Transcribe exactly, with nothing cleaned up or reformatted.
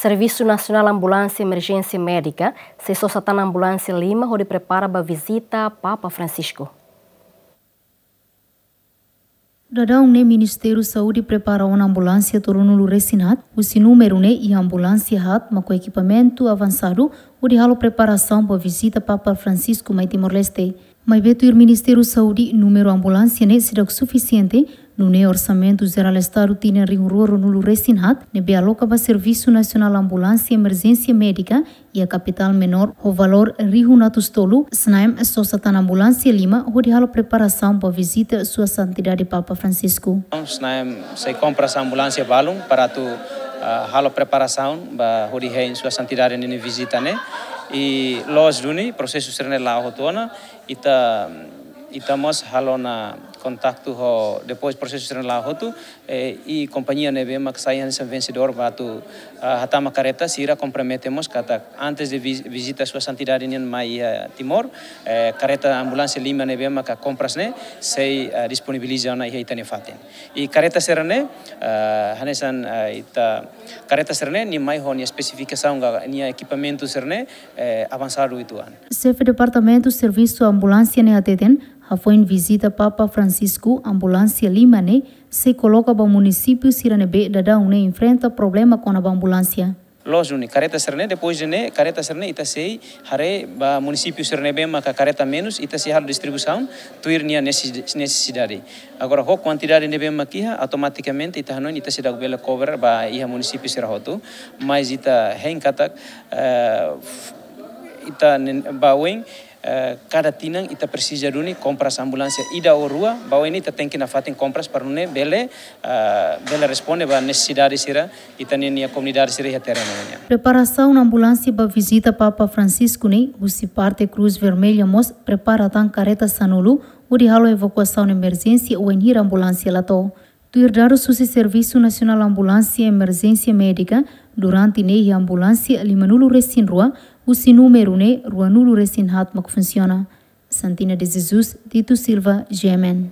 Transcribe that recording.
Servisu Nasionál Ambulánsia Emerjénsia Médika sei sosa tan ambulánsia lima hodi prepara ba vizita Papa Francisco. Daudaun ne'e Ministériu Saúde prepara ona ambulánsia tolunulu resin haat, husi númeru ne'e iha ambulánsia haat mak ho ekipamentu avansadu hodi halo preparasaun ba vizita Papa Francisco mai Timor-Leste. Maibé tuir Ministériu Saúde, númeru ambulánsia ne'e seidauk sufisiente, nune'e orsamentu jerál Estadu tinan rihun rua ruanulu resin haat ne'ebé aloka ba Servisu Nasionál Ambulánsia Emerjénsia Médika iha kapitál menór ho valór rihun atus tolu, SNAEM sosa tan ambulánsia lima hodi halo preparasaun ba vizita Sua Santidade Papa Francisco. SNAEM sei kompras ambulánsia balun para atu, ah, halo preparasaun ba hodi hein Sua Santidade ninia vizita ne'e. I loos duni prosesu sira-ne'e la'o hotu ona, ita, ita mós halo ona kontaktu ho, depois prosesu sira-ne'e la'o hotu, eh, i kompañia ne'ebé mak sai hanesan vensedór ba atu, ah, hatama kareta, sira kompromete mós katak antes de vi-, vizita Sua Santidade nian mai iha Timor, eh, kareta ambulánsia lima ne'ebé maka kompras ne'e sei, ah, disponibiliza ona iha ita-nia fatin. I kareta sira-ne'e, ah, hanesan, ah, ita kareta sira-ne'e nia mai ho nia espesifikasaun ka nia ekipamentu sira-ne'e, eh, avansadu uitoan. Xefe Departamentu Servisu Ambulánsia ne'e hateten, hafoin vizita Papa Francisco, ambulánsia lima ne'e sei koloka ba munisípiu sira ne'ebé daudaun ne'e enfrenta problema kona-ba ambulánsia. Loos duni kareta sira-ne'e, depois de ne'e, kareta sira-ne'e ita sei haree ba munisípiu sira ne'ebé maka kareta menus, ita sei halo distribuisaun tuir nia neses-, nesesidade. Agora, ho kuantidade ne'ebé mak iha, automatikamente ita hanoin ita seidauk bele cover ba iha munisípiu sira hotu, mas ita hein katak, eh, f-, ita nen-, ba oin, eh, kada tinan ita presiza duni kompras ambulánsia ida ou rua, ba oin ita tenke nafatin kompras para nune'e bele, eh, bele responde ba nesesidade sira ita-nia, nia komunidade sira iha terrenu nian. Preparasaun ambulánsia ba vizita Papa Francisco ne'e, husi parte Cruz Vermelha mós prepara tan kareta sanulu hodi halo evakuasaun emerjénsia wainhira ambulánsia la to'o. Tuir dadus husi Servisu Nasionál Ambulánsia Emerjénsia Médika, durante ne'e iha ambulánsia limanulu resin rua, husi númeru ne'e ruanulu resin haat mak funsiona. Santina de Jesus, Tito Silva, G M N.